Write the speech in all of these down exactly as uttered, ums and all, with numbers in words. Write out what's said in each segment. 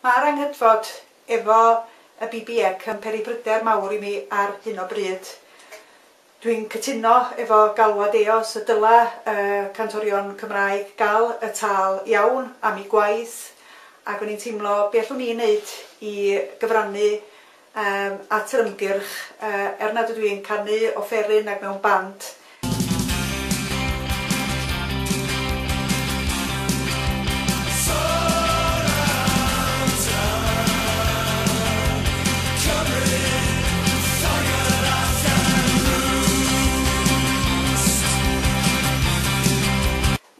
Mae'r anghydfod efo y B B E C yn peri pryder mawr i mi ar hyn o bryd. Dwi'n cytuno efo galwad EOS y dyla uh, cantorion Cymraeg gael y tâl iawn am eu gwaith, ac o'n i'n teimlo be allwn ni wneud i gyfrannu um, at yr ymgyrch, uh, er nad ydw i'n canu offeryn ac mewn band.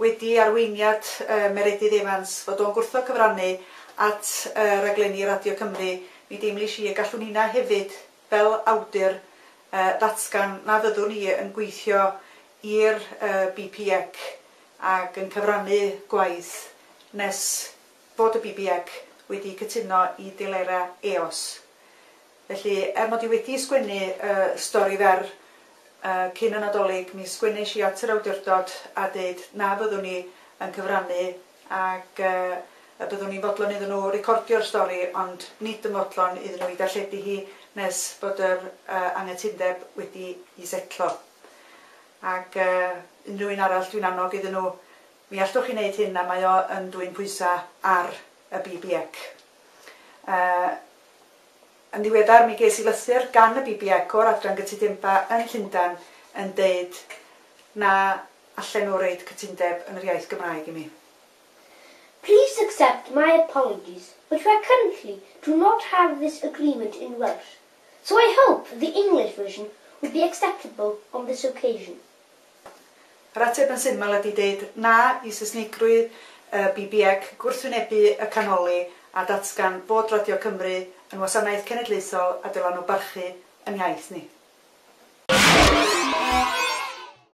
Wedi arweiniad uh, Meredydd Evans fod o'n gwrthod cyfrannu at uh, raglenni Radio Cymru, mi deimlis i y gallwn hynna hefyd fel awdur uh, ddatgan na fyddwn ni yn gweithio i'r uh, B P E C ac yn cyfrannu gwaith nes fod y B B E C wedi cytuno i delerau EOS. Felly, er mod i wedi sgwennu uh, stori fer Uh, cyn y Nadolig, mi sgwennes i at yr awdurdod a dweud na fyddwn ni yn cyfrannu ac uh, y byddwn ni'n fodlon iddyn nhw recordio'r stori, ond nid yn fodlon iddyn nhw i darlledu hi nes bod yr uh, anghytundeb wedi i setlo. Ac uh, unrhyw un arall dwi'n annog iddyn nhw, mi allwch chi wneud hyn a mae o yn dwyn pwysau ar y B B E C. Uh, Yn ddiweddar mi ges i lythyr gan y B B E C o'r adran gytundebau yn Llundain yn deud na allan nhw roid cytundeb yn yr iaith Gymraeg i mi. Please accept my apologies, but we currently do not have this agreement in Welsh, so I hope the English version would be acceptable on this occasion. Yr ateb yn syml ydy deud na i Saesneigrwydd y B B E C gwrthwynebu y canoli a datgan bod Radio Cymru yn wasanaeth cenedlaethol a dylan nhw barchu yn iaith ni.